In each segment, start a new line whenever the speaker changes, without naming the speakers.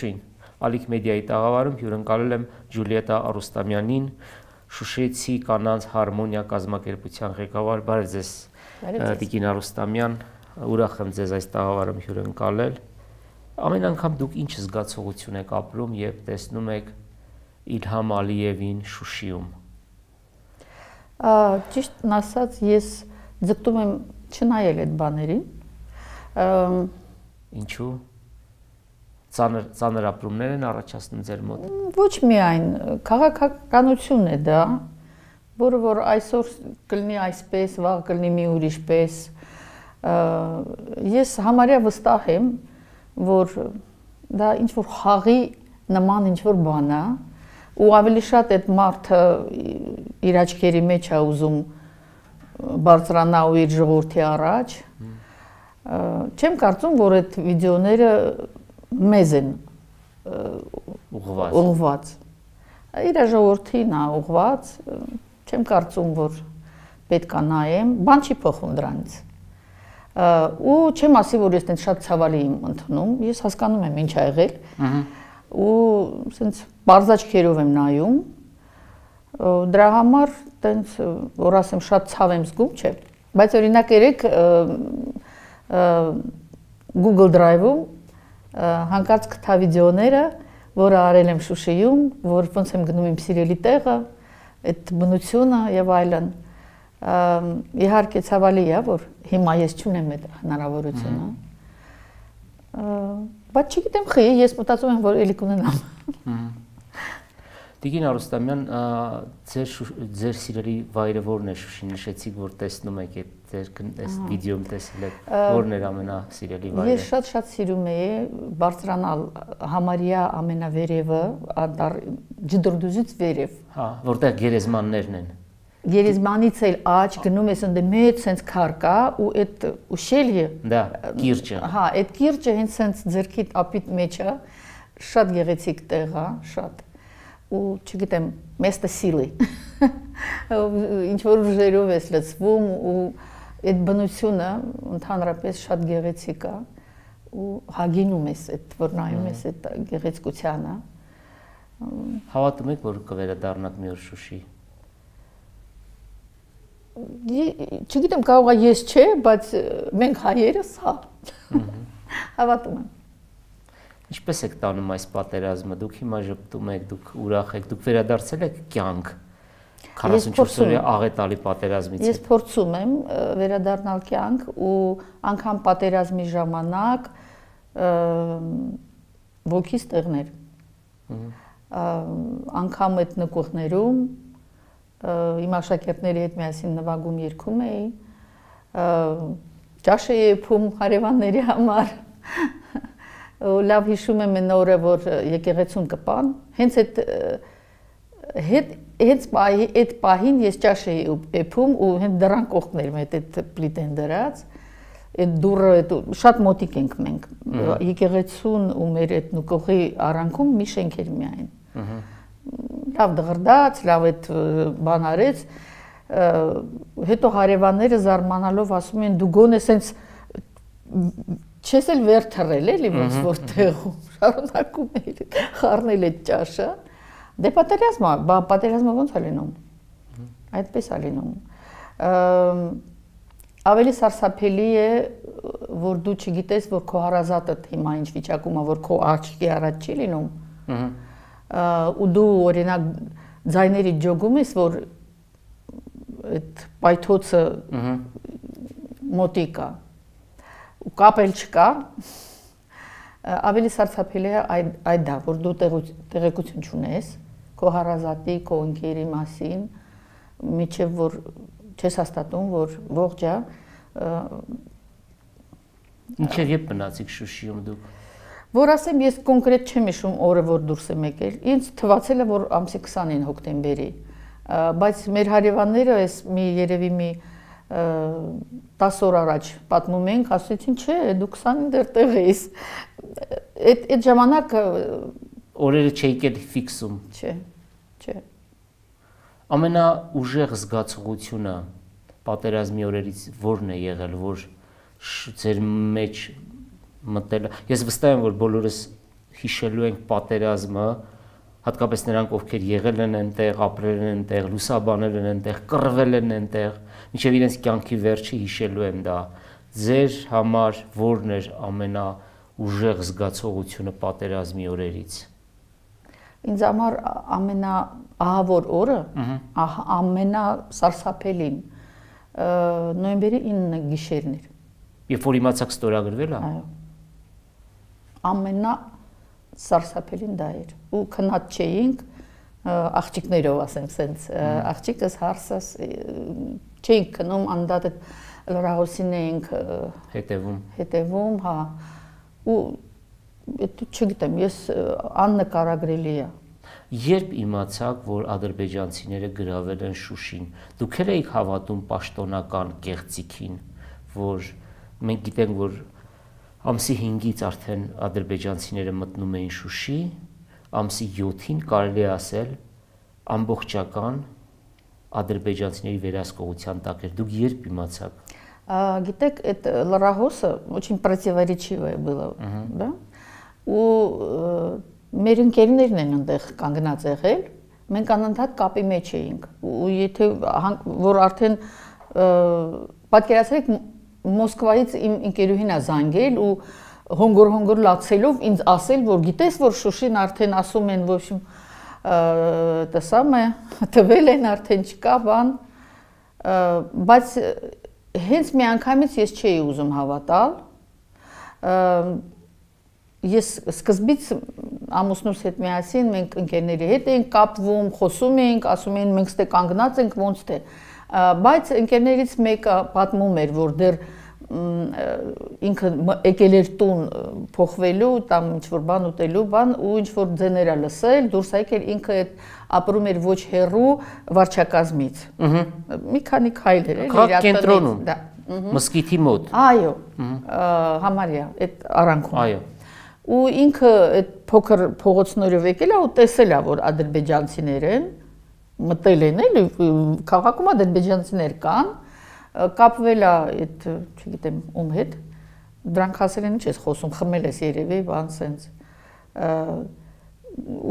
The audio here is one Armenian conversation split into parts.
Ողջույն, Ալիք մեդիայի տաղավարում հյուրընկալել եմ Ջուլիետա Արուստամյանին, Շուշեցի կանանց հարմոնիա կազմակերպության ղեկավար։ Բարև ձեզ, Տիկին Արուստամյան, ուրախ եմ ձեզ այս տաղավարում հյուրընկալել։ Ամեն անգամ դուք ինչ զգացողություն եք ապրում, երբ տեսնում եք Իլհամ Ալիևին Շուշիում։
Ճիշտն ասած, ես ձգտում եմ չնայել այդ բաներին։
Ինչու՞։ Ծանր ապրումներ են առաջացնում ձեր մոտ։
Ոչ միայն քաղաքականությունն է դա, որը որ այսօր կլինի այսպես, վաղ կլինի մի ուրիշ պես։ Ես համարյա վստահ եմ, որ դա ինչ որ խաղի նման ինչ որ բան է, ու ավելի շատ այդ մարդը իր աչքերի մեջ է ուզում բարձրանա ու իր ժողովրդի առաջ։ Չեմ կարծում, որ այդ վիդեոները մեզ են ուղղված։ Իր ժողովրդին է ուղղված, չեմ կարծում, որ պետք է նայեմ, բան չի փոխվում դրանից։ Ու չեմ ասի, որ ես այդպես շատ ցավալի եմ ընդունում, ես հասկանում եմ ինչ ա եղել։ Ու ասենց բարձաճքերով եմ նայում։ Դրա համար այդպես որ ասեմ շատ ցավ եմ զգում, չէ։ Բայց օրինակ երեք Google Drive-ում հանկարծ գտա վիդեոները, որը արել եմ Շուշիում, որ ոնց եմ գնում իմ սիրելի տեղը, այդ բնությունը եւ այլն։ Իհարկե ցավալի է, որ հիմա ես չունեմ այդ հնարավորությունը։ Բայց չգիտեմ խի, ես մտածում եմ, որ էլի կունենամ։
Տիկին Արուստամյան, ձեր սիրելի վայրը որն է Շուշի, նշեցիք, որ տեսնում եք այդ վիդեոում տեսել եք, որն էր ամենասիրելի վայրը։
Ես շատ սիրում էի բարձրանալ համարյա ամենավերևը, ջդրդուզից վերև։
Հա, որտեղ գերեզմաններն են։
Գերեզմանից էլ աջ գնում ես ընդ մեծ sense քար կա ու այդ ущелье,
դա կիրճը։
Հա, այդ կիրճը հենց sense ձերքի ապիտ մեջ է, շատ գեղեցիկ տեղ է, շատ։ Ու չգիտեմ, մեստը սիլի։ Ինչ որ ուժերով ես լցվում ու այդ բնությունը ընդհանրապես շատ գեղեցիկ է ու հագինում ես այդ որ նայում ես այդ գեղեցկությանը։
Հավատում եք, որ կվերադառնաք մի օր Շուշի։
Չգիտեմ, կարող է ես չէ, բայց մենք հայերս հա։ Հավատում եմ։
Ինչպես եք տանում այս պատերազմը, դուք հիմա ժպտում եք, դուք ուրախ եք, դուք վերադարձել եք կյանք 44 օրյա աղետալի պատերազմից։
Ես փորձում եմ վերադառնալ կյանք ու անգամ պատերազմի ժամանակ ոգիս տեղներ։ Անգամ այդ նկուղներում իմ աշակերտների հետ միասին նվագում երգում էի, ճաշ էի եփում հարևանների համար։ Լավ հիշում եմ այն օրը, որ եկեղեցուն կպան, հենց այդ պահին ես ճաշ էի եփում ու հենց դռան կողքներ մետ այդ պլիտեն դրած, այդ դուռը շատ մոտիկ ենք մենք, եկեղեցուն ու մեր այդ նկողի արանքում մի շենք էր միայն։ Լավ դղրդաց, լավ այդ բան արեց, հետո հարևանները զարմանալով ասում են դու գոնե սենց չես էլ վեր թռել էլի ոնց որ տեղում շարունակում էի խառնել այդ ճաշը դե պատերազմը ոնց է լինում այդպես է լինում ավելի սարսափելի է որ դու չգիտես որ քո հարազատը հիմա ինչ վիճակում է որ քո աչքի առաջ չի լինում ու դու օրինակ ձայների ջոգում ես որ այդ պայթոցը մոտիկ է ու կապել չկա, ավելի սարսափելի է այդ դա, որ դու տեղեկություն չունես, քո հարազատի, քո ընկերի մասին, միջև որ չես հաստատում, որ ողջ է։
Ինչեր երբ մնացիք Շուշիում դուք։
Որ ասեմ, ես կոնկրետ չեմ հիշում օրը, որ դուրս եմ եկել, ինձ թվացել է, որ ամսի 20-ին հոկտեմբերի, բայց մեր հարևանները այս երևի մի 10 օր առաջ պատմում ենք, ասեցին, չէ, դու 20-ին դեռ տեղ ես։ Այդ ժամանակ
օրերը չէիք էլ ֆիքսում։
Չէ։
Ամենաուժեղ զգացողությունը պատերազմի օրերից որն է եղել, որ ձեր մեջ մտել։ Ես վստահ եմ, որ բոլորս հիշելու ենք պատերազմը, հատկապես նրանք, ովքեր եղել են այնտեղ, ապրել են այնտեղ, լուսաբանել են այնտեղ, կռվել են այնտեղ, մինչև իրենց կյանքի վերջը հիշելու եմ դա։ Ձեր համար որն էր ամենաուժեղ զգացողությունը պատերազմի օրերից։
Ինձ համար ամենաահավոր օրը, ամենասարսափելին նոյեմբերի 9-ը գիշերն էր։
Երբ որ իմացաք ստորագրվել է։
Այո։ Ամենասարսափելին դա էր։ Ու քնած չէինք աղջիկներով, ասենք, սենց աղջիկս հարսս չէինք քնում, անդադդ լրահոսին էինք հետևում, հա։ Ու չգիտեմ, ես աննկարագրելի է։
Երբ իմացաք, որ ադրբեջանցիները գրավել են Շուշին, դուք էիք հավատում պաշտոնական կեղծիքին, որ մենք գիտենք, որ ամսի 5-ից արդեն ադրբեջանցիները մտնում էին Շուշի, ամսի 7-ին կարելի է ասել ամբողջական ադրբեջանցիների վերահսկողության տակ էր։ Դուք երբ իմացաք։
Գիտեք, այդ լրահոսը очень противоречивое было, да? Ու մեր ընկերներն են այնտեղ կանգնած եղել, մենք անընդհատ կապի մեջ էինք։ Ու եթե որ արդեն պատկերացրեք Մոսկվայից իմ ընկերուհին է զանգել ու հոնգոր լացելով ինձ ասել, որ գիտես, որ Շուշին արդեն ասում են, ոչ դա սամը տվել են, արդեն չկա բան, բայց հենց մի անգամից ես չէի ուզում հավատալ։ Ես սկզբից ամուսնուս հետ միասին մենք ընկերների հետ էինք կապվում, խոսում էինք, ասում էին մենք ստե կանգնած ենք ոնց թե, բայց ընկերներից մեկը պատմում էր, որ դեռ ինքը եկել էր տուն փոխվելու, там ինչ-որ բան ուտելու բան ու ինչ-որ ձեներ է լսել, դուրս եկել ինքը այդ ապրում էր ոչ հեռու վարչակազմից։ Մի քանի քայլ էր իր
կենտրոնում, մսկիթի մոտ։
Այո, համարյա, այդ արանքում։
Այո։
Ու ինքը այդ փոքր փողոցներով եկել է ու տեսել է, որ ադրբեջանցիներ են, մտել են էլի, քաղաքում ադրբեջանցիներ կան, կապվել է այդ, չգիտեմ, ում հետ, դրանք ասել են ինչ ես խոսում, խմել ես երևի, բան սենց։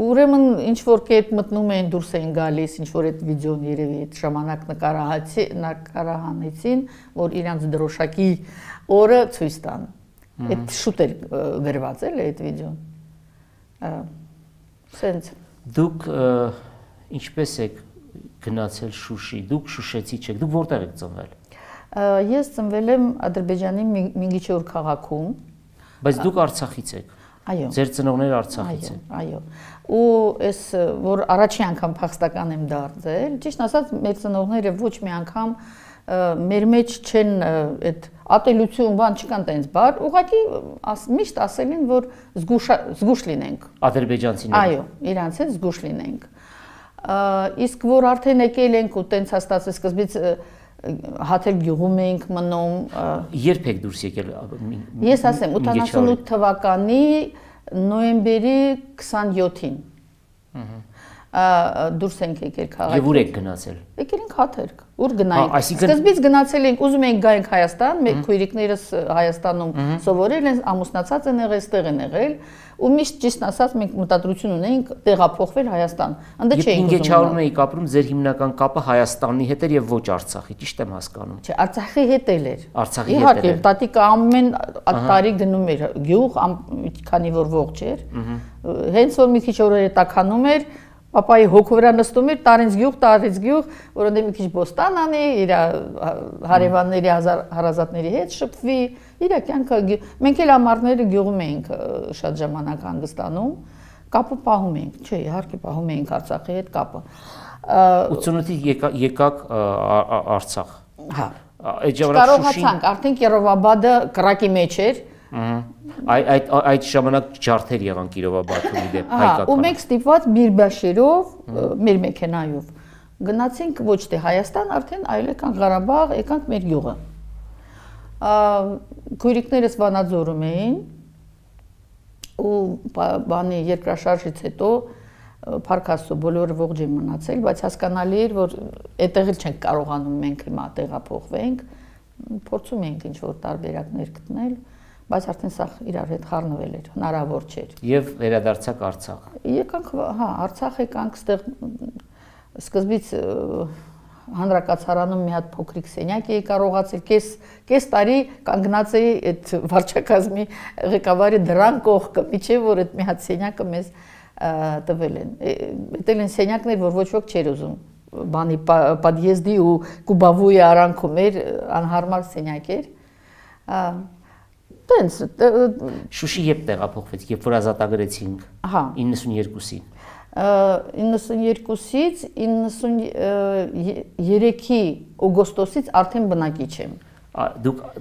Ուրեմն ինչ-որ կերպ մտնում էին, դուրս էին գալիս, ինչ-որ այդ վիդեոն երևի այդ ժամանակ նկարահանեցին, որ իրանց դրոշակի օրը ցույց տան։ Այդ շուտ էր գրված էլ այդ վիդեոն։ Սենց։
Դուք ինչպես եք գնացել Շուշի, դուք շուշեցի չեք, դուք որտեղ եք ծնվել։
Ես ծնվել եմ Ադրբեջանի Մինգիչեուր քաղաքում։
Բայց դուք Արցախից եք։
Այո։
Ձեր ծնողները Արցախից են։
Այո։ Ու այս որ առաջի անգամ փախստական եմ դարձել, ճիշտ ասած մեր ծնողները ոչ մի անգամ մեր մեջ չեն այդ ատելություն բան չկան տենց բար, ուղղակի միշտ ասել են, որ զգուշ լինենք։
Ադրբեջանցիները։
Այո, իրանց հետ զգուշ լինենք։ Իսկ որ արդեն եկել ենք ու տենց հաստատել սկզբից հաթել գյուղում էինք մնում։
Երբ եք դուրս եկել։
Ես ասեմ 88 թվականի նոյեմբերի 27-ին։ Դուրս ենք եկել քաղաքից։
Եվ ուր եք գնացել։
Եկել ենք Հաթերք, ուր գնայինք։ Սկզբից գնացել ենք, ուզում էինք գայինք Հայաստան, մեր քույրիկներս Հայաստանում սովորել են, ամուսնացած են եղել, ստեղ են եղել, ու միշտ ճիշտ ասած մենք մտադրություն ունեինք տեղափոխվել Հայաստան։ Անդե չէինք ուզում։
Մինգեչաուրում էիք ապրում, ձեր հիմնական կապը Հայաստանի հետ էր եւ ոչ Արցախի, ճիշտ եմ հասկանում։
Չէ, Արցախի հետ էլ էր։
Արցախի հետ էր։
Իհարկե, տատիկը ամեն տարի գնում էր գյուղ, քանի որ ողջ էր։ Հենց որ մի քիչ օրերը տաքանում էր, Պապայի հոգու վրա նստում էր տարից գյուղ, որոնց մի քիչ բոստան անի, իր հարևանների հարազատների հետ շփվի, իր կյանքը մենք էլ ամառները գյուղում էինք շատ ժամանակ հանգստանում, կապը պահում էինք, չէ, իհարկե պահում էինք Արցախի հետ կապը։
88-ից եկաք Արցախ։
Հա։
Այդ ժամանակ
Կարողացանք, արդեն Կիրովաբադը կրակի մեջ էր։
Այդ ժամանակ ջարդեր եղան Կիրովաբադում իդեպ հայկական։
Ու մենք ստիպված Միրբաշերով, մեր մեքենայով գնացինք ոչ թե Հայաստան, արդեն այլ եկանք Ղարաբաղ, եկանք մեր գյուղը։ Քույրիկներս Վանաձորում էին ու բանի երկրաշարժից հետո Փարքաստո բոլորը ողջ են մնացել, բայց հասկանալի էր, որ այդտեղ էլ չենք կարողանում մենք հիմա տեղափոխվենք, փորձում ենք ինչ-որ տարբերակներ գտնել, բայց արդեն սա իրար հետ խառնվել էր, հնարավոր չէր։
Եվ վերադարձակ Արցախ։
Եկանք, հա, Արցախ եկանք, ստեղ սկզբից հանրակացարանում մի հատ փոքրիկ սենյակ էի կարողացել, կես տարի կանգնած էի այդ վարչակազմի ղեկավարի դրան կողքը, միջև որ այդ մի հատ սենյակը մեզ տվել են։ Այդել են սենյակներ, որ ոչ ոք չէր ուզում, բանի պատիեզդի ու կուբավույի արանքում էր, անհարմար սենյակ էր։ Տենց
Շուշի երբ տեղափոխվեց, երբ որ ազատագրեցինք 92-ին։
92-ից 93-ի օգոստոսից արդեն բնակիչ եմ։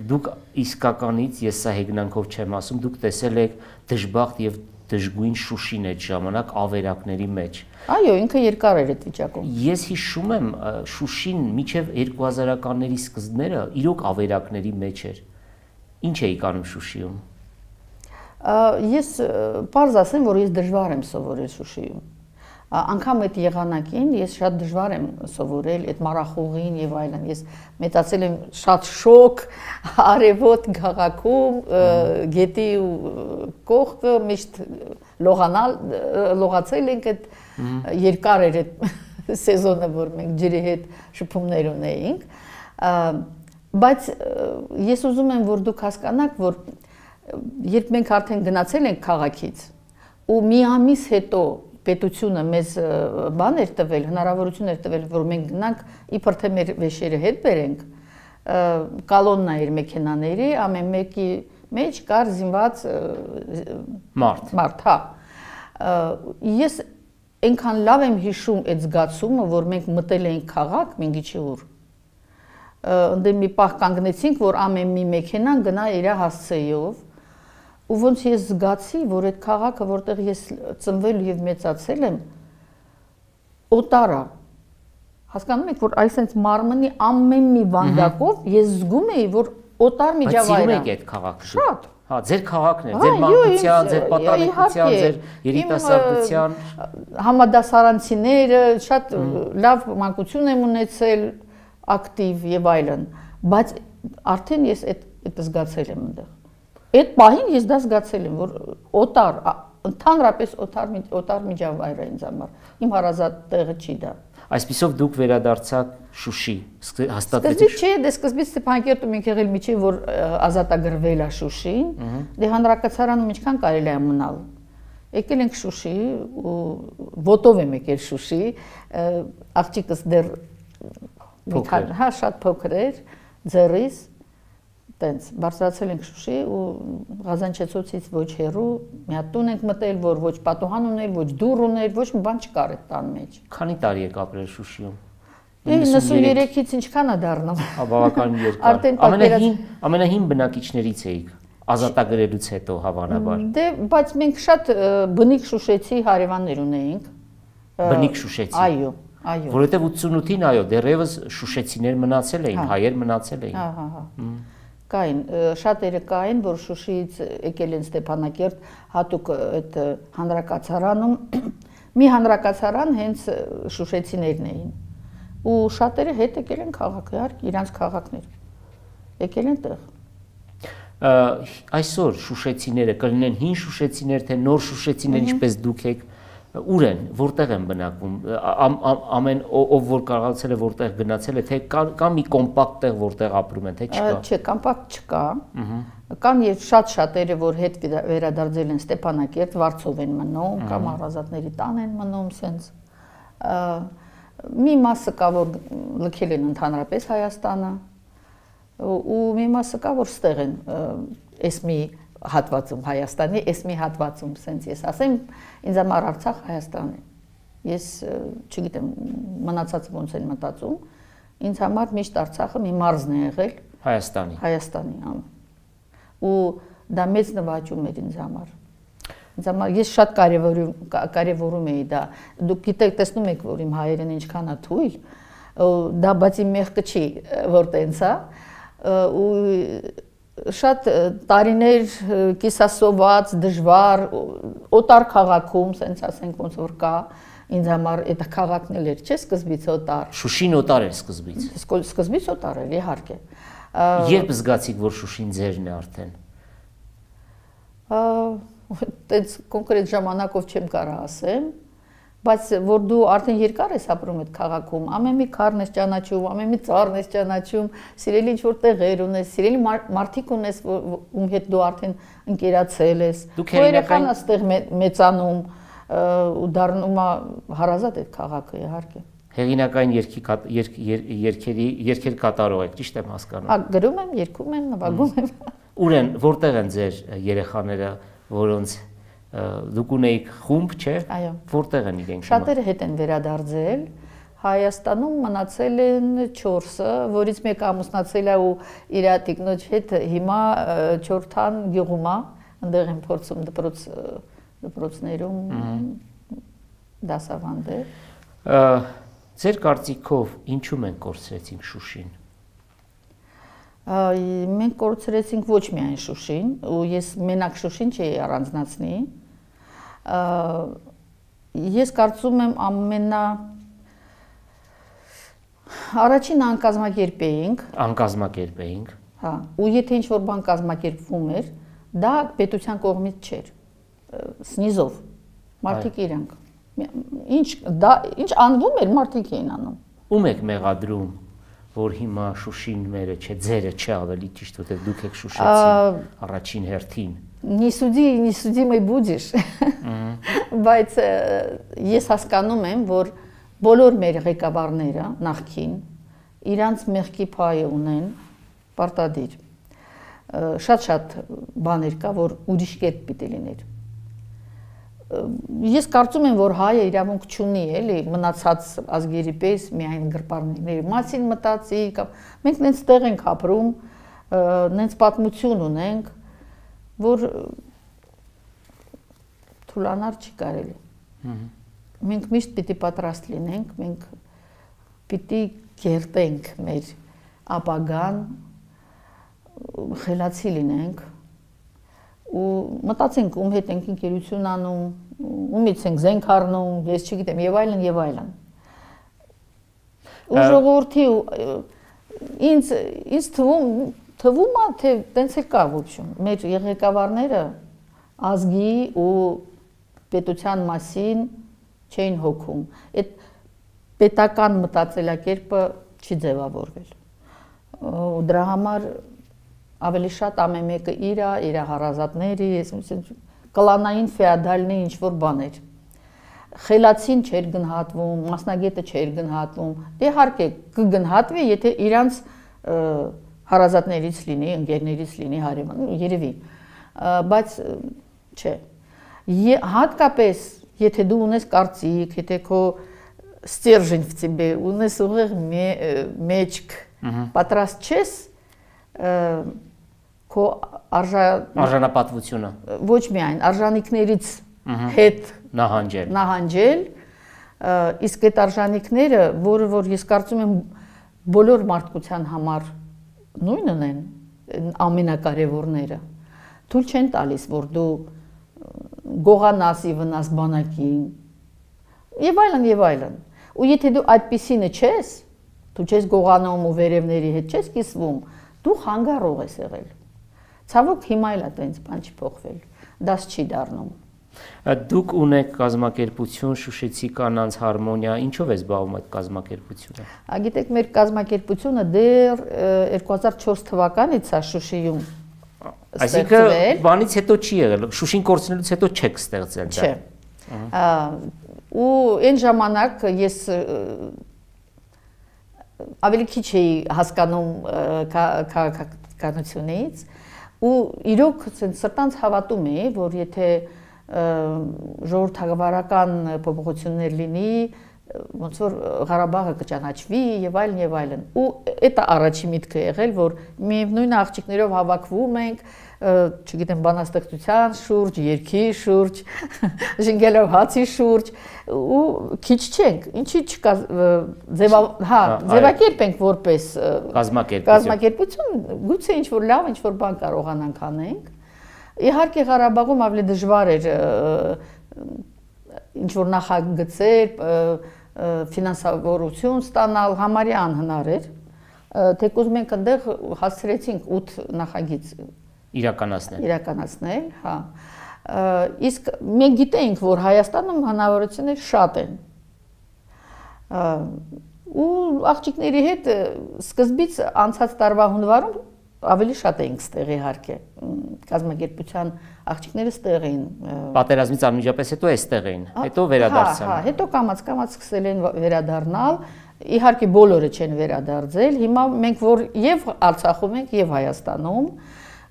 Դուք իսկականից, ես սա հեգնանքով չեմ ասում, դուք տեսել եք դժբախտ եւ դժգույն Շուշին այդ ժամանակ ավերակների մեջ։
Այո, ինքը երկար էր այդ վիճակում։
Ես հիշում եմ Շուշին մինչև 2000-ականների սկզբները իրոք ավերակների մեջ էր։ Ինչ էիք անում Շուշիում։
Ես պարզ ասեմ, որ ես դժվար եմ սովորել Շուշիում։ Անգամ այդ եղանակին ես շատ դժվար եմ սովորել այդ մարախուղին եւ այլն։ Ես մեծացել եմ շատ շոկ, արևոտ քաղաքում, գետի կողքը միշտ լողացել ենք այդ երկար էր այդ սեզոնը, որ մենք ջրի հետ շփումներ ունեինք։ Բայց ես ուզում եմ, որ դուք հասկանաք, որ երբ մենք արդեն գնացել ենք քաղաքից ու մի ամիս հետո պետությունը մեզ բան էր տվել, հնարավորություն էր տվել, որ մենք գնանք իբր թե մեր վեշերը հետ բերենք, կալոննա էր մեքենաների, ամեն մեկի մեջ կար զինված մարդ, հա։ Ես այնքան լավ եմ հիշում այդ զգացումը, որ մենք մտել էինք քաղաք, մենք իջի ուր։ Ընդ մի պահ կանգնեցինք, որ ամեն մի մեքենան գնա իր հասցեով, ու ոնց ես զգացի, որ այդ քաղաքը, որտեղ ես ծնվել եւ մեծացել եմ, օտար է։ Հասկանում եք, որ այսպես մարմնի ամեն մի վանդակով ես զգում էի, որ օտար միջավայր է։
Բայց սիրում եք այդ քաղաքը։
Շատ։
Հա, ձեր քաղաքն է, ձեր մանկության, ձեր պատանեկության, ձեր երիտասարդության։
Համադասարանցիները շատ լավ մանկություն եմ ունեցել, ակտիվ եւ այլն, բայց արդեն ես այդ զգացել եմ այնտեղ։ Այդ պահին ես դա զգացել եմ, որ օտար, ընդհանրապես օտար միջավայր է ինձ համար։ Իմ հարազատ տեղը չի դա։
Այսպիսով դուք վերադարձաք Շուշի,
Սկզբից
հաստատվեցիք։
չէ, դե սկզբից Ստեփանակերտում ենք եղել միջև որ ազատագրվել է Շուշին, դե հանրակացարանում ինչքան կարելի է մնալ։ Եկել ենք Շուշի ու ոտով եմ եկել Շուշի, աղջիկս դեռ հա շատ փոքր էր, ձեռիս տենց բարձրացել ենք Շուշի ու Ղազանչեցոցից ոչ հեռու մի հատ տուն ենք մտել, որ ոչ պատուհան ուներ, ոչ դուռ ուներ, ոչ մի բան չկար այդ տան մեջ։
Քանի տարի եք ապրել Շուշիում։
93-ից ինչքան է դառնում։
Հա, բավական երկար։ Ամենահին բնակիչներից էիք ազատագրելուց հետո հավանաբար։
Դե, բայց մենք շատ բնիկ շուշեցի հարևաններ ունեինք։
Բնիկ շուշեցի։
Այո, այո։
Որովհետև 88-ին այո, դեռևս շուշեցիներ մնացել էին, հայեր մնացել էին։
Հա։ Կային, շատերը կային, որ Շուշիից եկել են Ստեփանակերտ, հատուկ այդ հանրակացարանում, մի հանրակացարան հենց շուշեցիներն էին։ Ու շատերը հետ եկել են քաղաք, իհարկե, իրանց քաղաքներ։ Եկել են տեղ։
Այսօր շուշեցիները կլինեն հին շուշեցիներ, թե նոր շուշեցիներ, ինչպես դուք եք, ուր են, որտեղ են բնակվում, ամեն ով որ կարողացել է որտեղ գնացել է, թե կա մի կոմպակտ տեղ որտեղ ապրում են, թե չկա։
Չէ, կոմպակտ չկա։ Կան եւ շատ-շատերը, որ հետ վերադարձել են Ստեփանակերտ, Վարչով են մնում, կամ առազատների տան են մնում, սենց։ Մի մասը կա, որ լքել են ընդհանրապես Հայաստանը, ու մի մասը կա, որ ստեղ են էսմի հատվածում Հայաստանի, էսմի հատվածում, սենց ես ասեմ, ինձ համար Արցախ Հայաստան է։ Ես չգիտեմ, մնացածը ոնց են մտածում, ինձ համար միշտ Արցախը մի մարզն է եղել Հայաստանի, ու դա մեծ նվաճում էր ինձ համար։ Ես շատ կարևորում էի դա, դուք գիտեք, տեսնում եք, որ իմ հայերեն ինչքան է թույլ, դա բայց իմ մեղքը չի, որ տենց է, ու շատ տարիներ կիսասոված, դժվար, օտար քաղաքում, սենց ասենք ոնց որ կա, ինձ համար այդ քաղաքն էլ էր, չէ, սկզբից օտար։
Շուշին օտար էր սկզբից։
Սկզբից օտար էր, իհարկե։
Երբ զգացիք, որ Շուշին ձերն է արդեն։
Այդպես կոնկրետ ժամանակով չեմ կարող ասեմ, բայց որ դու արդեն երկար ես ապրում այդ քաղաքում, ամեն մի քարն ես ճանաչում, ամեն մի ծառն ես ճանաչում, սիրելի ինչ-որ տեղեր ունես, սիրելի մարդիկ ունես, ում հետ դու արդեն ընկերացել ես, քո երեխան այստեղ մեծանում ու դառնում է հարազատ այդ քաղաքը իհարկե։
Հեղինակային երգեր կատարող եք, ճիշտ եմ հասկանում։
Գրում եմ, երգում եմ, նվագում եմ։
Որտեղ են ձեր երեխաները, որոնց դուք ունեիք խումբ, չէ՞։
Այո։
Որտեղ են իրենք։
Շատերը հետ են վերադարձել։ Հայաստանում մնացել են 4-ը, որից մեկը ամուսնացել է ու իր տիկնոջ հետ հիմա Չորթան գյուղում է, այնտեղ են փորձում դպրոցներում դասավանդել։
Ձեր կարծիքով ինչու մենք կորցրեցինք Շուշին։
Մենք կորցրեցինք ոչ միայն Շուշին, ու ես մենակ Շուշին չի առանձնացնի։ Ես կարծում եմ առաջին անկազմակերպ էինք։
Անկազմակերպ էինք։
Հա, ու եթե ինչ-որ բան կազմակերպվում էր, դա պետության կողմից չէր։ Սնիզով։ Մարդիկ իրանք։ Ինչ անվում էր, մարդիկ էին անում։
Ում եք մեղադրում, որ հիմա Շուշին մերը չէ, ձերը չէ, ավելի ճիշտ, որտեղ դուք եք Շուշեցին առաջին հերթին։
Не суди, мой будешь։ Բայց ես հասկանում եմ, որ բոլոր մեր ղեկավարները նախքին իրանց մեղքի փայը ունեն պարտադիր։ Շատ բաներ կա, որ ուրիշ կերպ պիտի լիներ։ Ես կարծում եմ, որ հայը իրավունք չունի, էլի, մնացած ազգերի պես միայն գրպանների մասին մտածի, կամ մենք նենց տեղ ենք ապրում, նենց պատմություն ունենք, որ թուլանալ չի կարելի։ Մենք միշտ պիտի պատրաստ լինենք, մենք պիտի կերտենք մեր ապագան, խելացի լինենք, ու մտածենք ում հետ ենք ընկերություն անում, ումից ենք զենք առնում, ես չգիտեմ, եւ այլն եւ այլն։ Ու ժողովրդի ինձ թվում է, թե տենց էլ կա ոչմ։ Մեր ղեկավարները ազգի ու պետության մասին չէին հոգում։ Այդ պետական մտածելակերպը չի ձևավորվել։ Ու դրա համար ավելի շատ ամեն մեկը իր հարազատների, կլանային ֆեոդալնի ինչ-որ բաներ։ Խելացին չէր գնահատվում, մասնագետը չէր գնահատվում։ Իհարկե կգնահատվի, եթե իրանց հարազատներից լինի, ընկերներից լինի, հարևան, երևի։ Բայց չէ։ Հատկապես, եթե դու ունես կարծիք, եթե քո ստержень в тебе, ունես ուղիղ մեջք, պատրաստ չես քո
արժանապատվությունը
ոչ միայն արժանինքներից հետ նահանջել, իսկ այդ արժանինքները, որ ես կարծում եմ բոլոր մարդկության համար նույնն են, ամենակարևորները, թույլ չեն տալիս, որ դու գողանաս ի վնաս բանակին, եւ այլն։ Ու եթե դու այդպիսինը չես, դու չես գողանում ու վերևների հետ չես կիսվում, դու խանգարող ես եղել։ Ցավոք հիմա էլ այդպես բան չի փոխվել, դաս չի դառնում։
Դուք ունեք կազմակերպություն Շուշեցի կանանց հարմոնիա, ինչով է զբաղվում այդ կազմակերպությունը։
Գիտեք, մեր կազմակերպությունը դեռ 2004 թվականից է Շուշիում
ստեղծվել։ Այսինքն բանից հետո չի եղել, Շուշին կորցնելուց հետո չեք ստեղծել դա։
Չէ։ Ու այն ժամանակ ես ավելի քիչ էի հասկանում քաղաքականությունից ու իրոք սրտանց հավատում էի, որ եթե ժողովրդավարական փոփոխություններ լինի, ոնց որ Ղարաբաղը կճանաչվի եւ այլն։ Ու դա առաջի միտքը եղել, որ միևնույն աղջիկներով հավաքվում ենք, չգիտեմ, բանաստեղծության շուրջ, երգի շուրջ, ժենգելով հացի շուրջ, ու քիչ չենք, ինչի չկա ձևակերպ ենք որպես կազմակերպություն, գուցե ինչ-որ լավ, ինչ-որ բան կարողանանք անենք։ Իհարկե Ղարաբաղում ավելի դժվար էր ինչ-որ նախագծեր, ֆինանսավորություն ստանալ, համարյա անհնար էր, թեկուզ մենք այնտեղ հասցրեցինք 8 նախագիծ իրականացնել, հա։ Իսկ մենք գիտենք, որ Հայաստանում հնարավորություններ շատ են։ Ու աղջիկների հետ սկզբից անցած տարվա հունվարում ավելի շատ էինք ստեղ իհարկե։ Կազմակերպության աղջիկները ստեղ էին։
Պատերազմից անմիջապես հետո էստեղ էին, հետո վերադարձան։
Հա, հետո կամաց սկսել են վերադառնալ։ Իհարկե բոլորը չեն վերադարձել։ Հիմա մենք որ եւ Արցախում ենք եւ Հայաստանում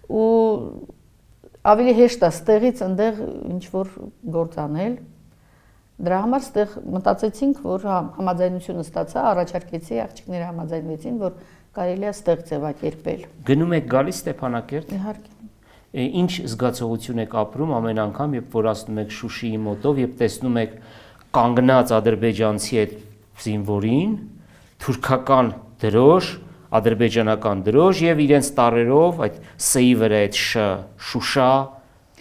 ու ավելի հեշտ է ստեղից այնտեղ ինչ որ գործ անել։ Դրա համար ստեղ մտածեցինք, որ համաձայնությունը ստացա, առաջարկեցի, աղջիկները համաձայնվեցին, որ կարելի է ստեղ ձևակերպել։
Գնում եք գալիս Ստեփանակերտ։
Իհարկե։
Ինչ զգացողություն եք ապրում ամեն անգամ, երբ որ ասնում եք Շուշիի մոտով, երբ տեսնում եք կանգնած ադրբեջանցի այդ զինվորին, թուրքական դրոշ, ադրբեջանական դրոշ եւ իրենց տառերով այդ Ս-ի վրա այդ Շուշա,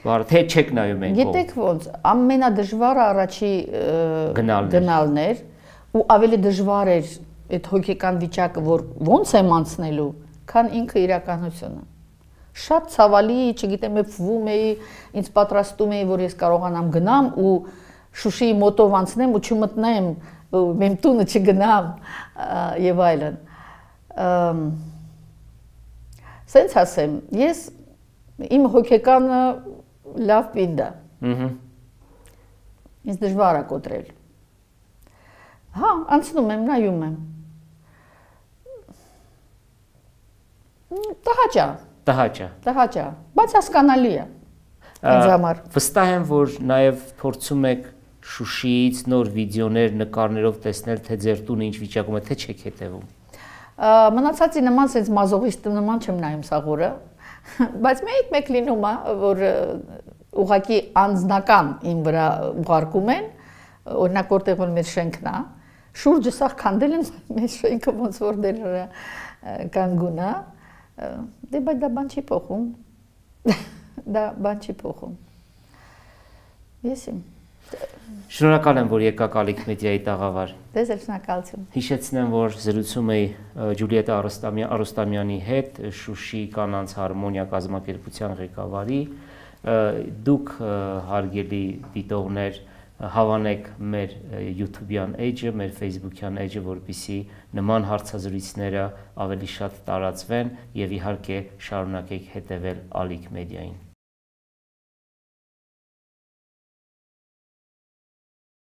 թե չեք նայում են։
Գիտեք ոնց, ամենադժվարը առաջի գնալն էր ու ավելի դժվար էր այդ հոգեկան վիճակը, որ ոնց եմ անցնելու, քան ինքը իրականությունը։ Շատ ցավալի, չգիտեմ, ևվում էի, ինձ պատրաստում էի, որ ես կարողանամ գնամ ու Շուշիի մոտով անցնեմ ու չմտնեմ, մեմ տունը չգնամ եւ այլն։ Սենց ասեմ, ես իմ հոգեկանը լավ պինդ է։ Ինձ դժվար է կոտրել։ Հա, անցնում եմ, նայում եմ։ Տհաճ է, բայց հասկանալի է ինձ համար։
Վստահ եմ, որ նաև փորձում եք Շուշիից նոր վիդեոներ, նկարներով տեսնել, թե ձեր տունը ինչ վիճակում է, թե չեք հետևում։
Մնացածի նման sense մազողիստի նման չեմ նայում սաղորը, բայց մեկ լինում է, որ ուղղակի անձնական իմ վրա ուղարկում են, օրինակ որտեղ որ մեր շենքն է, շուրջը սաղ քանդել են մեր շենքը ոնց որ դեր կանգուն է, դե բայց դա բան չի փոխում, Ես իմ։
Շնորհակալ եմ, որ եկաք Ալիք մեդիայի տաղավար։
Ձեզ էլ շնորհակալություն։
Հիշեցնեմ, որ զրուցում էի Ջուլիետա Արուստամյանի հետ, Շուշի կանանց հարմոնիա կազմակերպության ղեկավարի։ Դուք հարգելի դիտողներ հավանեք մեր YouTube-յան էջը, մեր Facebook-յան էջը, որպեսզի նման հարցազրույցները ավելի շատ տարածվեն եւ իհարկե շարունակեք հետևել Ալիք մեդիային։